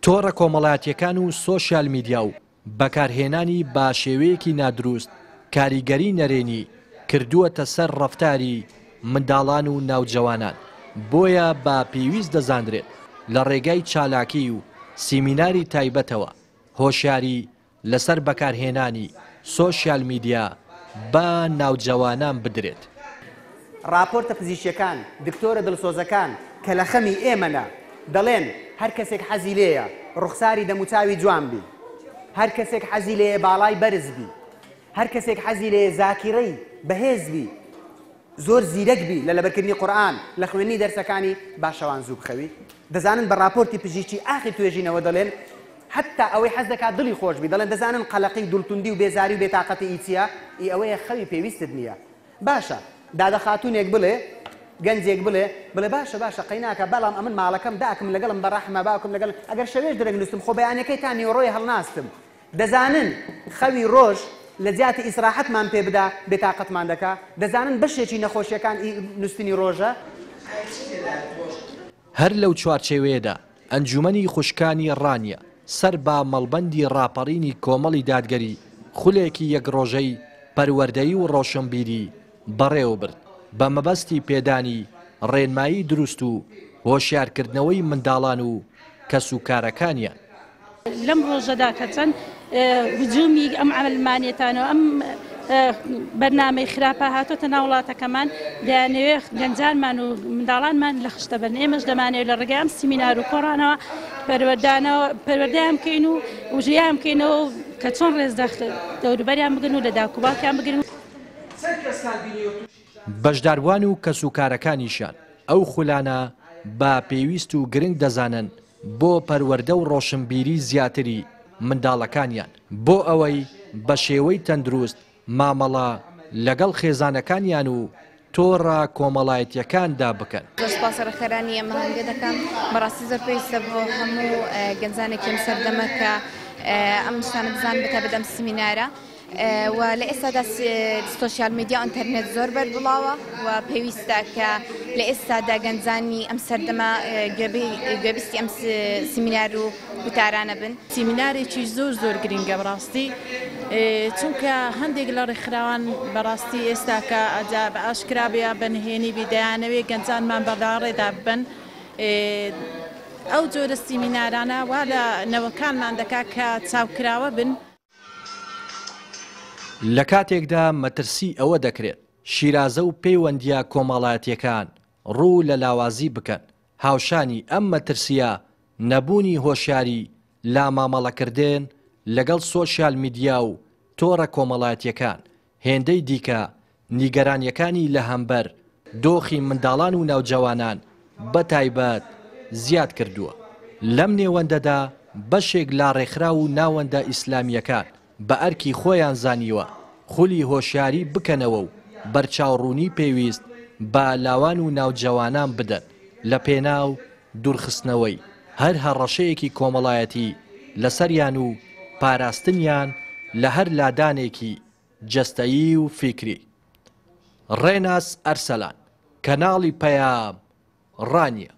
تۆڕە کۆمەڵایەتییەکان و سۆشیال میدیا و بەکارهێنانی بە شێوەیەکی نادروست کاریگەری نەرێنی کردووەتە سەر ڕەفتاری منداڵان و ناوجەوانان، بۆیە بە پێویست دەزانرێت لە ڕێگای چالاکی و سیمیناری تایبەتەوە هۆشیاری لەسەر بەکارهێنانی سۆشیال میدیا بە ناوجەوانان بدرێت. ڕاپۆرتە پزیشکیەکان، دکتۆرە دڵسۆزەکان کە لە خەمی ئێمەنە دەڵێن هەر کەسێک حەزی لێیە ڕوخساری دەموچاوی جوان بی، هەر کەسێک حەزی لێیە باڵای بەرز بی، هەر کەسێک حەزی لێیە زاکیرەی بەهێز بی، زۆر زیرەک بی لە لەبەرکردنی قورئان، لە خوێندنی دەرسەکانی، با شەوان زوو بخەوی. دەزانن بە ڕاپۆرتی پزیشکی ئاخر توێژینەوە دەڵێن حەتتا ئەوەی حەز دەکات دڵی خۆش بی دەڵێن دەزانن قەلەقی و دڵتوندی و بێزاری و بێتاقەتی ئی چیە؟ ئی ئەوەیە خەوی پێویستت نیە. باشە دادە خاتوونێک بڵێ گەنجێک بڵێ بڵێ باشە باشە قەیناکە بەڵام ئەمن ماڵەکەم داکم لەگەڵم بەڕەحمە باوکم لەگەڵ ئەگەر شەوێش درەنگ نوستم خۆ بەیانەکەی تا نیوەڕۆی هەڵناستم دەزانن خەوی ڕۆژ لە جیاتی ئیسراحەتمان پێ بدا بێتاقەتمان دەکا؟ دەزانن بەشێکی نەخۆشیەکان ئی نوستنی ڕۆژە؟ هەر لەو چوارچێوەیەدا ئەنجومەنی خوشکانی ڕانیە سەر بە مەڵبەندی ڕاپەڕینی کۆمەڵی دادگەری خولێکی یەک ڕۆژەی پەروەردەیی و ڕۆشنبیری بەڕێوەبرد بە مەبەستی پێدانی ڕێنمایی دروست و هۆشیارکردنەوەی منداڵان و کەسوکارەکانیان. لەم ڕۆژەدا کە چەند هجومی ئەم عەلمانیەتانە و ئەم بەرنامەی خراپە هاتۆتە ناو وڵاتەکەمان دەیانەوێ گەنجانمان و منداڵانمان لە خشتە بەرن ئێمەش دەمانەوێت لە ڕێگای ئەم سیمینار و کۆڕانەوە پەروەردانەوە پەروەردەیان بکەین و وژیان بکەینەوە کە چۆن ڕێز لە دەوروبەریان بگرن و لە داک و باوکیان بگرن. بەشداربوان و کەسوکارەکانیشیان ئەو خولانە بە پێویست و گرنگ دەزانن بۆ پەروەردە و ڕۆشنبیری زیاتری منداڵەکانیان بۆ ئەوەی بە شێوەی تەندروست مامەڵە لەگەڵ خێزانەکانیان و تۆڕە کۆمەڵایەتییەکاندا بکەن. زۆر سوپاسی ڕێکخەرانی ئەم ئاهەنگە دەکەم، بەڕاستی زۆر پێویستە بۆ هەموو گەنجانێکی ئەم سەردەمە کە ئەم شتانە بزانن بەتایبەت ئەم سیمینارە. و لە ئێستادا سۆشیال میدیا و ئینتەرنێت زۆر بەربڵاوە و پێویستە کە لە ئێستادا گەنجانی ئەم سەردەمە گوێبیستی ئەم سیمینار و وتارانە بن. سیمینارێکی زۆر زۆر گرینگە بەڕاستی چونکە هەندێک لە ڕێکخراوان بەڕاستی ئێستاکە ئەجا بە ئاشکرا بێ یا بە نهێنی بی دەیانەوێ گەنجانمان بە لاڕێدا ببەن ئەو جۆرە سیمینارانە وا لە نەوەکانمان دەکا کە چاوکراوە بن. لە کاتێکدا مەترسی ئەوە دەکرێت شیرازە و پەیوەندییە کۆمەڵایەتییەکان ڕوو لە لاوازی بکەن، هاوشانی ئەم مەترسییە نەبوونی هۆشیاری لە مامەڵەکردن لەگەڵ سۆشیال میدیا و تۆڕە کۆمەڵایەتییەکان هێندەی دیکە نیگەرانییەکانی لە هەمبەر دۆخی منداڵان و ناوجەوانان بە تایبەت زیاد کردووە. لەم نێوەندەدا بەشێک لە ڕێکخراو و ناوەندە ئیسلامییەکان بە ئەرکی خۆیان زانیوە خولی هۆشیاری بکەنەوە و بەرچاوڕوونی پێویست بە لاوان و ناوجەوانان بدەن لە پێناو دوورخستنەوەی هەر هەڕەشەیەکی کۆمەڵایەتی لەسەریان و پاراستنیان لە هەر لادانێکی جەستەیی و فیکری. ڕێناس ئەرسەلان، کەناڵی پەیام، ڕانیە.